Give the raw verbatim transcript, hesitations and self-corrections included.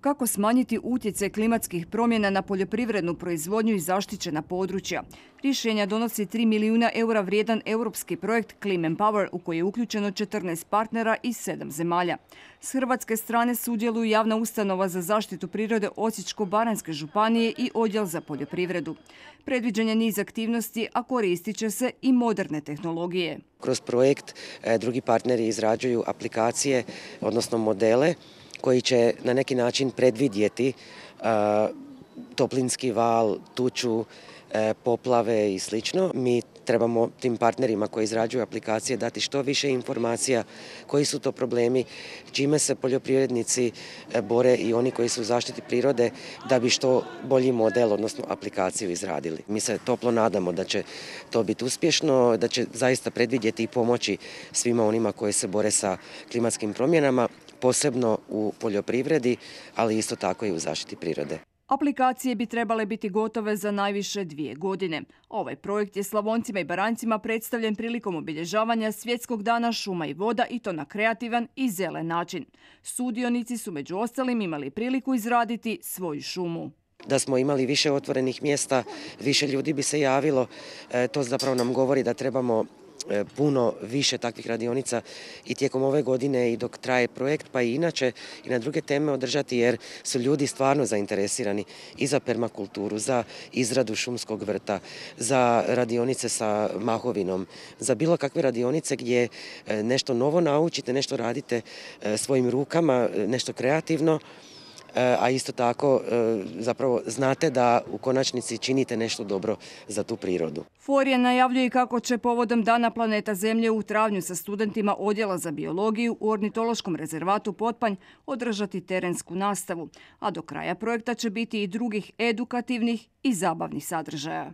Kako smanjiti utjecaj klimatskih promjena na poljoprivrednu proizvodnju i zaštićena područja? Rješenja donosi tri milijuna eura vrijedan europski projekt Clean Power u koji je uključeno četrnaest partnera iz sedam zemalja. S hrvatske strane sudjeluju javna ustanova za zaštitu prirode Osječko-baranjske županije i odjel za poljoprivredu. Predviđen je niz aktivnosti, a koristit će se i moderne tehnologije. Kroz projekt drugi partneri izrađuju aplikacije, odnosno modele, koji će na neki način predvidjeti uh, toplinski val, tuču, uh, poplave i slično. Mi trebamo tim partnerima koji izrađuju aplikacije dati što više informacija koji su to problemi, čime se poljoprivrednici bore i oni koji su u zaštiti prirode da bi što bolji model, odnosno aplikaciju izradili. Mi se toplo nadamo da će to biti uspješno, da će zaista predvidjeti i pomoći svima onima koji se bore sa klimatskim promjenama, posebno u poljoprivredi, ali isto tako i u zaštiti prirode. Aplikacije bi trebale biti gotove za najviše dvije godine. Ovaj projekt je Slavoncima i Baranjcima predstavljen prilikom obilježavanja Svjetskog dana šuma i voda i to na kreativan i zelen način. Sudionici su među ostalim imali priliku izraditi svoju šumu. Da smo imali više otvorenih mjesta, više ljudi bi se javilo. E, to zapravo nam govori da trebamo puno više takvih radionica i tijekom ove godine i dok traje projekt, pa i inače i na druge teme održati, jer su ljudi stvarno zainteresirani i za permakulturu, za izradu šumskog vrta, za radionice sa mahovinom, za bilo kakve radionice gdje nešto novo naučite, nešto radite svojim rukama, nešto kreativno, a isto tako zapravo znate da u konačnici činite nešto dobro za tu prirodu. Forje najavljuje kako će povodom Dana planeta Zemlje u travnju sa studentima Odjela za biologiju u Ornitološkom rezervatu Potpanj održati terensku nastavu, a do kraja projekta će biti i drugih edukativnih i zabavnih sadržaja.